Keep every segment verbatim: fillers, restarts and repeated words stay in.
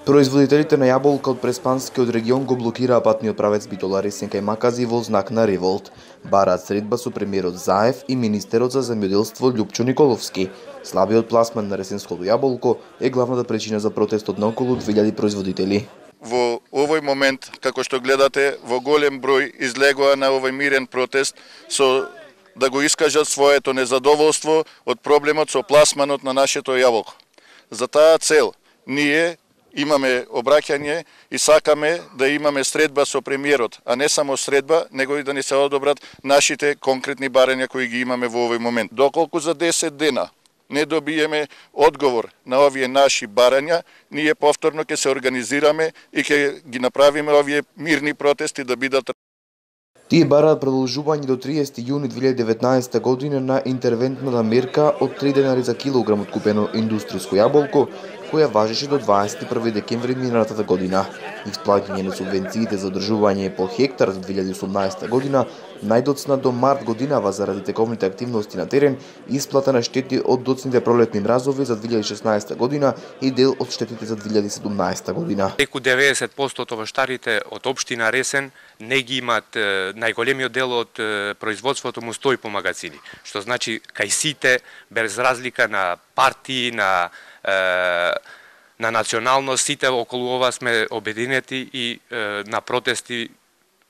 Производителите на јаболка од Преспанскиот регион го блокираа патниот правец Битола-Ресен кај Макази во знак на револт. Бараат средба со премиерот Заев и министерот за земјоделство Љупчо Николовски. Слабиот пласман на ресенското јаболко е главната причина за протестот на околу две илјади производители. Во овој момент, како што гледате, во голем број излегоа на овој мирен протест со да го искажат своето незадоволство од проблемот со пласманот на нашето јаболко. За таа цел ние имаме обраќање и сакаме да имаме средба со премиерот, а не само средба, него и да ни се одобрат нашите конкретни барања кои ги имаме во овој момент. Доколку за десет дена не добиеме одговор на овие наши барања, ние повторно ќе се организираме и ќе ги направиме овие мирни протести да бидат. Тие бараат продолжување до триесети јуни две илјади и деветнаесета година на интервентната мерка од три денари за килограм откупено индустријско јаболко, која важеше до дваесет и први декември минатата година. Исплаќање на субвенциите за одржување по хектар за две илјади и осумнаесета година најдоцна до март годинава заради тековните активности на терен, исплата на штети од доцните пролетни мразови за две илјади и шеснаесета година и дел од штетите за две илјади и седумнаесета година. Преку деветдесет проценти од овоштарите од општина Ресен не ги имат најголемиот дел од производството му стои по магазини, што значи кај сите без разлика на партии, на на националност, сите околу ова сме обединети и на протести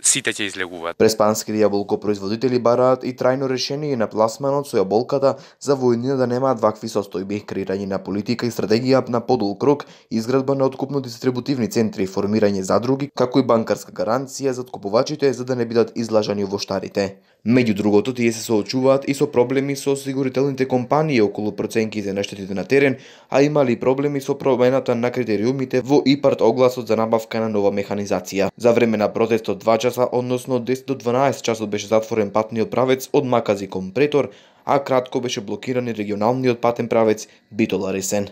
сите ќе излегуваат. Преспанските јаболко производители бараат и трајно решение на пласманот со јаболката за во иднина да немаат вакви состојби, креирање на политика и стратегија на подолг рок, изградба на откупно-дистрибутивни центри, формирање задруги, како и банкарска гаранција за откупувачите за да не бидат излажани овоштарите. Меѓу другото, тие се соочуваат и со проблеми со осигурителните компании околу проценките на штетите на терен, а имали проблеми со промената на критериумите во ИПАРТ огласот за набавка на нова механизација. За време на протестот два часа, односно од десет до дванаесет часот беше затворен патниот правец од Макази кон Претор, а кратко беше блокиран и регионалниот патен правец Битола-Ресен.